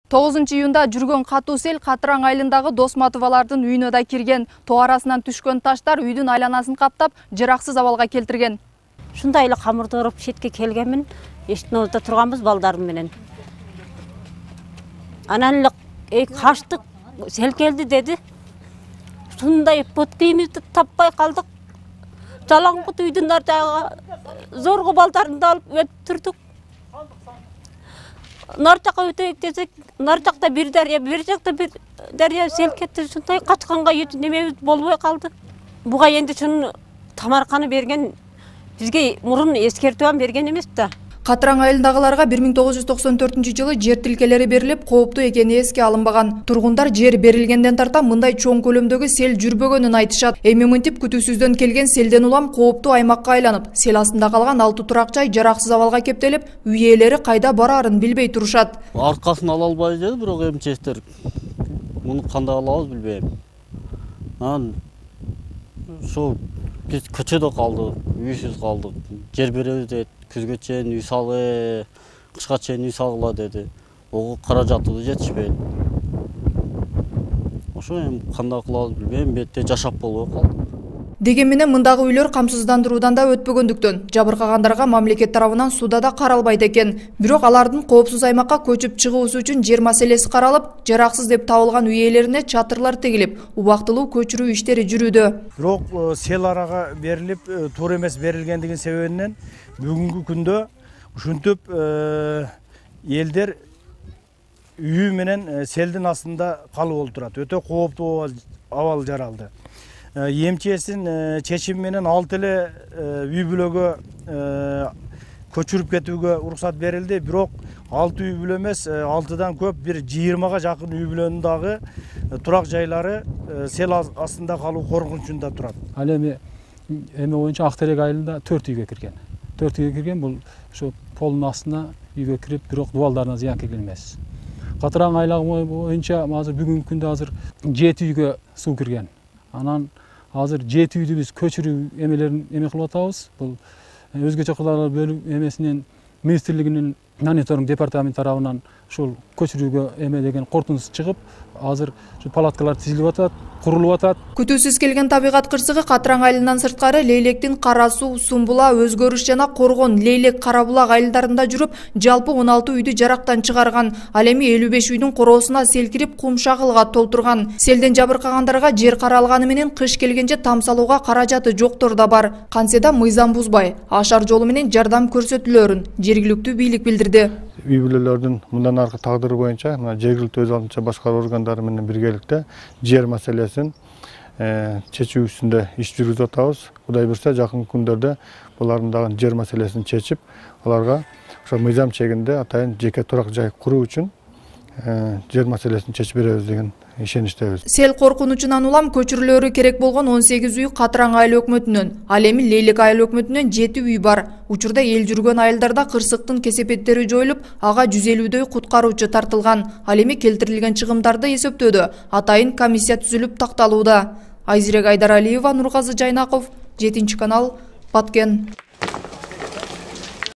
9-июнда жүргөн катуу сел Катыраң айылындагы Досматовалардын үйүнө да кирген. Тоо арасынан түшкөн таштар үйдүн айланасын каптап, жараксыз абалга келтирген. Шундай эле камырды уруп четке келгенмин, эшиктин алдында турганбыз балдарым менен. Анан эле качтык, сел келди деди. Шундай бут кийимибизди таппай калдык. Жалаңбут үйдүн ар жагы зорго балдарымды алып өтүп турдук. Нар жакка өтөйүк десек, нар жакта бир дарыя, бир жакта бир дарыя сел кетти. Шундай качканга немебиз болбой калды. Буга энди шуну тамарканы берген, бизге мурун эскертүү берген эмес да. Катыраң айылындагыларга 1994-жылы жер тилкелери берилип, кооптуу экени эске алынбаган. Тургундар жер берилгенден тарта мындай чоң көлөмдөгү сел жүрбөгөнүн айтышат. Эми мынтип күтүүсүздөн келген селден улам кооптуу аймакка айланып, сел астында калган 6 турак жай жараксыз абалга кептелип, үй ээлери кайда бараарын билбей турушат. Аркасын ала албай жатыр, бирок эмчектер муну кандай алабыз билбейм. Анан ошо биз көчөдө калдык, үйсүз калдык. Жер беребиз дейт. Күзгө чейин үй салы, кышка чейин үй салгыла деди. Ого каражатыбыз жетишпейт. Ошо эми кандай кылабыз билбейм, бетте жашап болбой калдык. Деген менен мындагы үйлөр камсыздандыруудан да өтпөгөндүктөн жабыркагандарга мамлекет тарабынан суда да каралбайт экен. Бирок алардын коопсуз аймакка көчүп чыгуусу үчүн жер маселеси каралып, жараксыз деп табылган үй ээлерине чатырлар тегилип, убактылуу көчүрүү иштери жүрүүдө. Бирок сел арага берилип, туура эмес берилгендигин себебинен бүгүнкү күндө ушинтип элдер үйү менен селдин астында калып олтурат. Өтө кооптуу абал жаралды. Эмчесин чечими менен 6 эле үй бүлөгө көчүрүп кетүүгө уруксат берилди. Бирок 6 үй бүлө эмес, 6дан көп, бир 20га жакын үй бүлөнүн дагы турак жайлары сел астында калуу коркунучунда турат. Ал эми боюнча Актерек айылында 4 үйгө кирген. 4 үйгө кирген, бул ошо полдун астына үйгө кирип, бирок дубалдарына зыян келген эмес. Катыраң айлыгы боюнча азыр бүгүнкү күндө азыр 7 үйгө суу кирген. Анан азыр 7 үйдү биз көчүрүү эмелерин кылып атабыз. Бул өзгөчө кырдаалдар бөлүм эмесинен министрлигинин мониторинг департамент тарабынан ушул көчүрүүгө деген корутундусу чыгып, азыр ушу палаткалар тизилип атат, курулуп атат. Күтүүсүз келген табигат кырсыгы Катыраң айылынан сырткары Лейлектин Кара суу, Сумбула, Өзгөрүш жана Коргон, Лейлек, Карабулак айылдарында жүрүп, жалпы 16 үйдү жарактан чыгарган. Ал эми 55 үйдүн короосуна сел кирип, кум шагылга толтурган. Селден жабыркагандарга жер каралганы менен кыш келгенче там салууга каражаты жоктор да бар. Кантсе да мыйзам бузбай, ашар жолу менен жардам көрсөтүлөрүн жергиликтүү бийлик билдирди. Үй бүлөлөрдүн мындан аркы тагдыры боюнча жергиликтүү өз алдынча башкаруу органдары менен биргеликте жер маселесин чечүү үстүндө иш жүргүзүп атабыз. Кудай буйрса жакын күндөрдө булардын дагы жер маселесин чечип, аларга ошо мыйзам чегинде атайын жеке турак жай куруу үчүн жер маселесин чечип беребиз деген ишеничтебиз. Сел коркунучунан улам көчүрүлөрү керек болгон 18 үй Катыраң айыл өкмөтүнөн, ал эми Лейлек айыл өкмөтүнөн 7 үй бар. Учурда эл жүргөн айылдарда кырсыктын кесепеттери жоюлуп, ага 150дөй куткаруучу тартылган. Ал эми келтирилген чыгымдарды эсептөөдө атайын комиссия түзүлүп такталууда. Айзирек Айдаралиева, Нургазы Жайнаков, 7 канал, Баткен.